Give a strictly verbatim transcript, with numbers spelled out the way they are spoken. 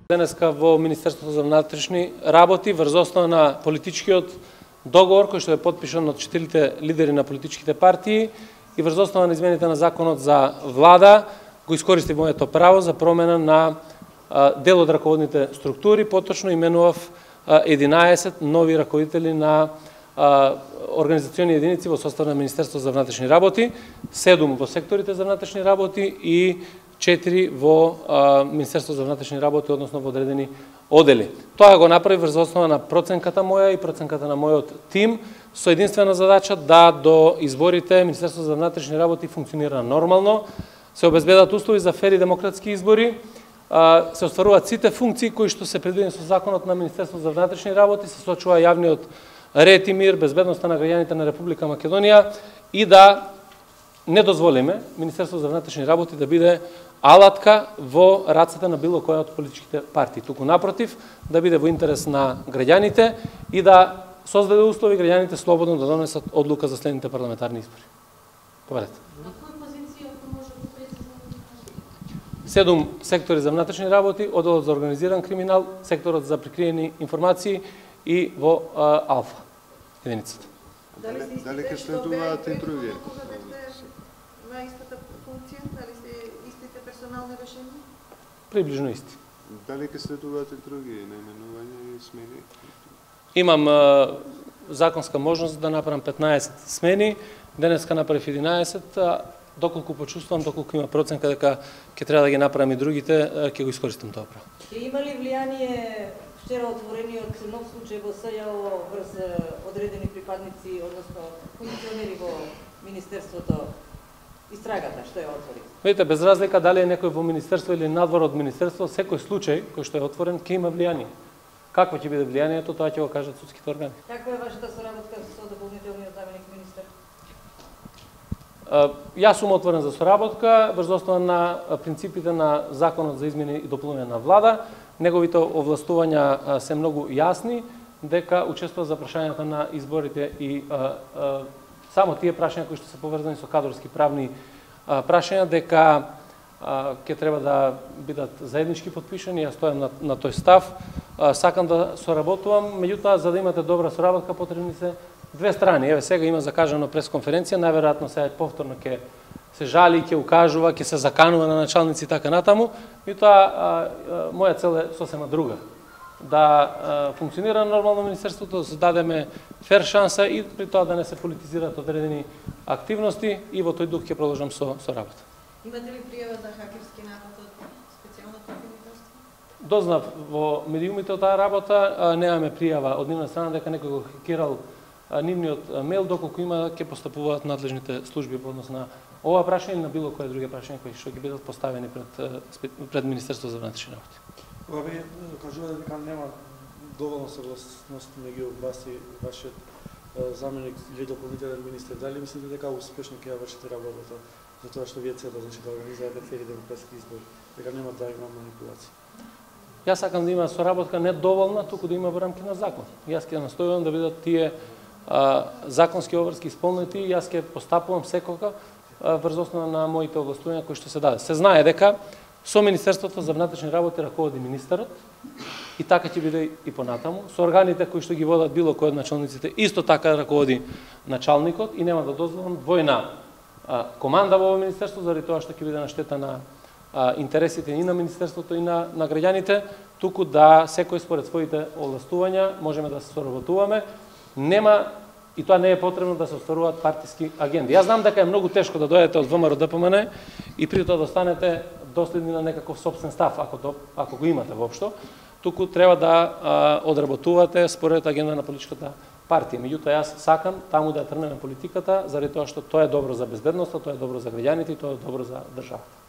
Денеска во Министерството за внатрешни работи врз основа на политичкиот договор кој што е потпишан од четирите лидери на политичките партии и врз основа на измените на законот за влада го искористив моето право за промена на дел од раководните структури, поточно именував единаесет нови раководители на организациони единици во состав на Министерството за внатрешни работи, седум во секторите за внатрешни работи и четири во Министерството за внатрешни работи, односно во одредени одели. Тоа го направи врз основа на проценката моја и проценката на мојот тим, со единствена задача да до изборите Министерството за внатрешни работи функционира нормално, се обезбедат услови за фер и демократски избори, се остваруваат сите функции кои што се предвидени со законот на Министерството за внатрешни работи, се сочува јавниот ред и мир, безбедноста на граѓаните на Република Македонија и да не дозволиме Министерството за внатрешни работи да биде алатка во рацете на било која од политичките партии. Туку напротив, да биде во интерес на граѓаните и да создаде услови граѓаните слободно да донесат одлука за следните парламентарни избори. Поведете. Седум сектори за внатрешни работи, одделот за организиран криминал, секторот за прикриени информации и во а, Алфа единицата. Дали, дали ќе следуваат и други? На истата функција, дали се истите персонални решенија? Приближно исти. Дали ќе следуваат и други наименувања и смени? Имам а, законска можност да направам петнаесет смени, денеска направив единаесет, а доколку почувствувам, доколку има проценка дека ќе треба да ги направам и другите, ќе го искористам тоа право. Ќе има ли влијание вчера отворениот нов случај во СЈО врз одредени припадници, односно функционери во Министерството, истрагата што е отвори? Видите, без разлика дали е некој во Министерство или надвор од Министерство, секој случај кој што е отворен ќе има влијание. Какво ќе биде влијанието, тоа ќе го кажат судските органи. Каква е вашата соработка со дополнителниот заменик министер? Јас сум отворен за соработка врз основа на принципите на законот за измени и дополнување на влада. Неговите овластувања се многу јасни, дека учествува за прашањата на изборите и а, а, само тие прашања кои што се поврзани со кадрски правни а, прашања, дека а, ќе треба да бидат заеднички подпишани. Јас стојам на, на тој став. А, сакам да соработувам, меѓутоа за да имате добра соработка потребни се две страни. Еве сега има закажано пресконференција, најверојатно сега повторно ќе се жали, ќе укажува, ќе се заканува на началници и така натаму. Меѓутоа моја цел е сосема друга. Да а, функционира нормално министерството, да се дадеме фер шанса и при тоа да не се политизираат одредени активности и во тој дух ќе продолжам со со работа. Имате ли пријава за хакерски напад од специјалното министерство? Дознав во медиумите од таа работа, а, немаме пријава од нивна страна дека некој го хакирал нивниот мејл, доколку има ќе постапуваат надлежните служби во однос на ова прашање или на било кое други прашања кои што ќе бидат поставени пред пред Министерството за внатрешни работи. Кога ви кажувате дека нема доволно согласност меѓу вас и вашиот заменик или дополнителен министер, дали мислите дека успешно ќе ја вршите работата за тоа што вие целите, значи да организирате фер и демократски избори, дека нема да има манипулации? Јас сакам да има соработка не доволна, туку да има во рамки на закон. Јас ќе настојувам да бидат тие а, законски обврски исполнети и јас ќе постапувам секога врз основа на моите овластувања кои што се даде. Се знае дека со Министерството за внатрешни работи раководи министерот и така ќе биде и понатаму. Со органите кои што ги водат било кој од началниците исто така раководи началникот и нема да дозволам двојна а, команда во министерство заради тоа што ќе биде на штета на а, интересите и на министерството и на на граѓаните, туку да секој според своите овластувања можеме да се соработуваме. Нема и тоа не е потребно да се остваруваат партиски агенди. Јас знам дека е многу тешко да дојдете од ВМРО Д П М Н и при тоа да останете доследни на некаков сопствен став, ако, до, ако го имате воопшто, туку треба да а, одработувате според агенда на политичката партија. Меѓутоа јас сакам таму да трнеме политиката, заради тоа што тоа е добро за безбедноста, тоа е добро за граѓаните и тоа е добро за државата.